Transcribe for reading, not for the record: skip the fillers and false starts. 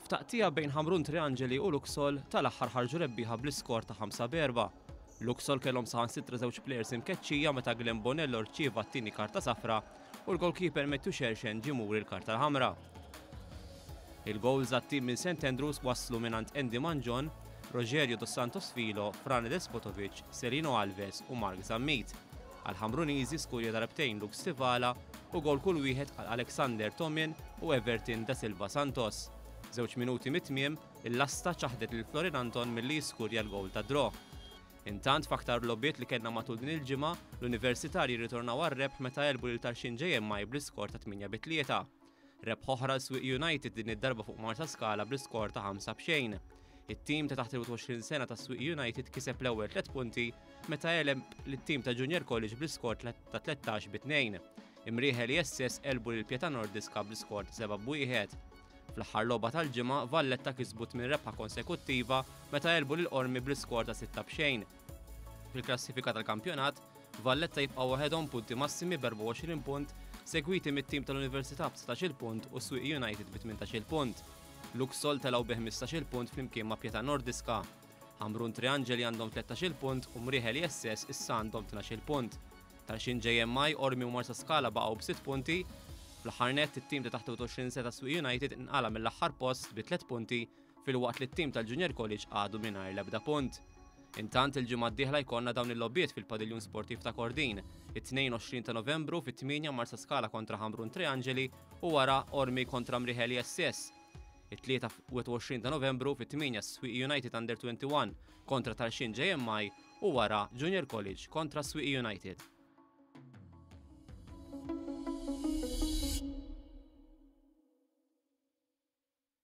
F'taqtigħa bejn Ħamrun Triangeli u Luxol, tal-aħħar ħarġu rebbieħa bl-iskor ta' 5-4. Luxol kellhom saħansitra żewġ plejers imkeċċija meta Glenn Bonello rċieva t-tieni karta safra u l-goalkeeper Matthew Xerxen ġie muri l-karta l-ħamra. Il-gowls għat-tim minn St Andrews waslu mingħand Andy Mangion, Rogerio dos Santos Filho, Frane Despotovic, Serino Alves u Mark Zammit. Għall-Ħamruniżi skurja darbtejn Luke Stivala u gowl kull wieħed għal Alexander Tomin u Everton da Silva Santos. Żewġ minuti mit-tmiem, il-lasta ċaħdet lil Florin Anton milli jiskurja l-gowl tad-draw. Intant f'aktar logħbiet li kellna matul din il-ġimgħa, l-Universitarji rritornaw għar-rebħ meta għelbu lil Tarxien JMI bl-iskor ta' 8 bi 3. Rebħ oħra għal Swieqi United din id-darba fuq Marsaskala bl-iskor ta' 5 b'xejn. It-tim ta' taħt il-21 sena ta' Swieqi United kiseb l-ewwel tliet punti meta għeleb lit-tim ta' Junior College bl-iskor ta' 13 bi 2. Imrieħel ISS għelbu lil Pietà Nordiska bl-iskor ta' 7 b'wieħed. Fl-aħħar logħba tal-ġimgħa, Valletta kisbu tmien rebħa konsekuttiva meta għelbu lil Qormi bl-iskor ta' 6 b'xejn. Fil-klassifika tal-kampjonat, Valletta jibqgħu waħedhom punti massimi b'24 punt, segwiti mit-tim tal-Università b'19-il punt u Swieqi United bi 18-il punt. Luxol telgħu bi 15-il punt flimkien ma' Pietà Nordiska. Ħamrun Triangeli għandhom 13-il punt u Mrieħel ISS issa għandhom 12-il punt. Tarxien JMI, Qormi u Marsaskala baqgħu b'sitt punti. Fl-aħħar nett, it-tim ta' taħt 21 sena ta' Swieqi United inqala' mill-aħħar post bi tliet punti filwaqt li t-tim tal-Junior College għadu mingħajr l-ebda punt. Intant il-ġimgħa d-dieħla jkollna dawn il-logħbiet fil-Padiljun Sportiv ta' Kordin, it-Tnejn 20 ta' Novembru fit-tmienja Marsaskala kontra Ħamrun Triangeli u wara Qormi kontra Mrieħel ISS. It-Tlieta 21 ta' Novembru fit-tmienja Swieqi United Under 21 kontra Tarxien JMI u wara Junior College kontra Swieqi United.